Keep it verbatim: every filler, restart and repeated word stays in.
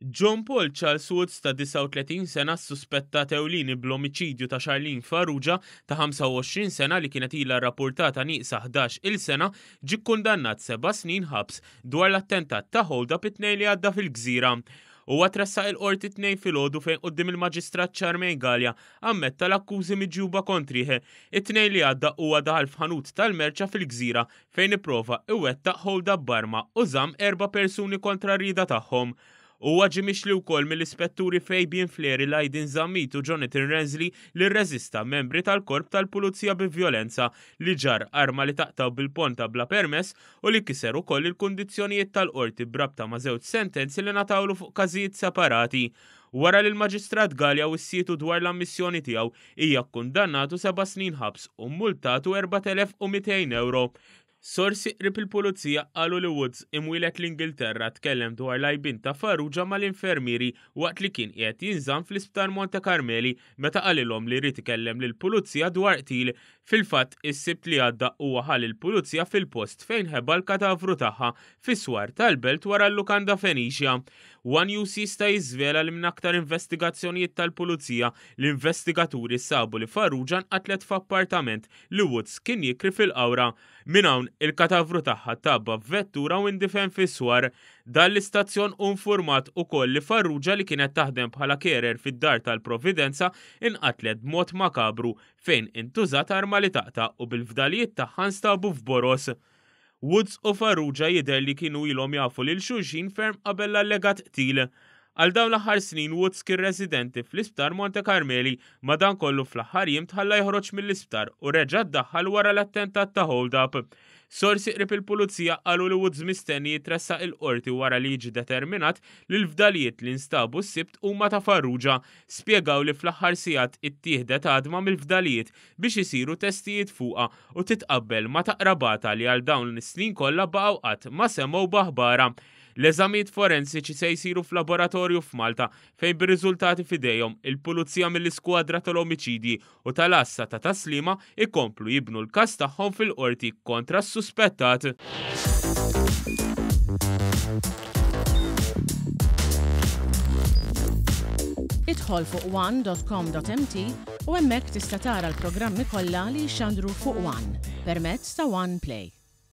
John Paul Charles Woods ta' disgħa u tletin sena ssuspettat ewlieni bl-omiċidju ta' Charlene Farrugia ta' ħamsa u għoxrin sena li kienet ilha rrappurtata nieqsa ħdax-il sena ġie kkundannat seba' snin ħabs dwar l-attentat ta' hold-up it-Tnejn li għadda fil-Gżira. Huwa tressaq il-Qorti t-Tnejn filgħodu fejn quddiem il-Maġistrat Charmaine Galea ammetta l-akkużi miġjuba kontrih. It-Tnejn li għadda huwa daħal f'ħanut tal-merċa fil-Gżira fejn ipprova iwettaq hold-up b'arma u żamm erba' persuni kontra r-rieda tagħhom. Huwa ġie mixli wkoll mill-ispetturi Fabian Fleri, Lydon Zammit u Jonathan Rensley li rreżista membri tal-korp tal-pulizija bi vjolenza, li ġarr arma li taqtaw bil-ponta bla permess u li kiser ukoll il-kundizzjonijiet tal-qorti b'rabta ma' żewġ sentenzi li ngħatawlu fuq każijiet separati. Wara li l-Maġistrat Galea wissietu dwar l-ammissjoni tiegħu, hija kkundannatu seba' snin ħabs u mmultatu erbat elef u mitejn ewro. Sorsi qrib il-pulizija qalu li Woods, imwieled l-Ingilterra, tkellem dwar l-għajbien ta' Farrugia mal-infermieri waqt li kien qiegħed jinżamm fl-Isptar Monte Carmeli meta qalilhom li ried ikellem lill-pulizija dwar qtil. Fil-fatt, is-Sibt li għadda huwa ħa lill-pulizija fil-post fejn ħeba l-katavru tagħha fis-swar tal-belt wara l-lukanda Phoenicia. One News jista' jiżvela li minn aktar investigazzjonijiet tal-pulizija, l-investigaturi sabu li Farrugia nqatlet f'appartament li Woods kien jikri fil-Qawra. Minn hawn, il-katavru tagħha tgħabba f'vettura u indifen fis-swar. Dan l-istazzjon hu nfurmat ukoll li Farrugia li kienet taħdem bħala carer fid-dar tal-Providenza inqatlet b'mod makabru fejn intużat arma li taqta' u bil-fdalijiet tagħha nstabu f'boros. Woods u Farrugia jidher li kienu ilhom jafu lil xulxin ferm qabel l-allegat qtil. Għal dawn l-aħħar snin Woods kien residenti fl-Isptar Monte Carmeli, madankollu fl-aħħar jiem tħalla joħroġ mill-isptar u reġa' ddaħħal wara l-attentat ta' hold-up. Sorsi qrib il-pulizija qalu li Woods mistenni jitressaq il-qorti wara li jiġi determinat li l-fdalijiet li nstabu s-Sibt huma ta' Farrugia. Spjegaw li fl-aħħar sigħat ittieħdet għadma mill-fdalijiet biex isiru testijiet fuqha u titqabbel ma' ta' qrabata li għal dawn is-snin kollha baqgħu qatt ma semgħu b'aħbarha. L-eżamijiet forensiċi se jsiru f'laboratorju f'Malta fejn bir-riżultati f'idejhom il-pulizija mill-iskwadra tal-omiċidji u tal-għassa ta' Taslima ikomplu jibnu l-każ tagħhom fil-qorti kontra s-suspettat. Idħol fuq one dot com dot m t u hemmhekk tista' tara l-programmi kollha li jixxandru fuq One permezz ta' One Play.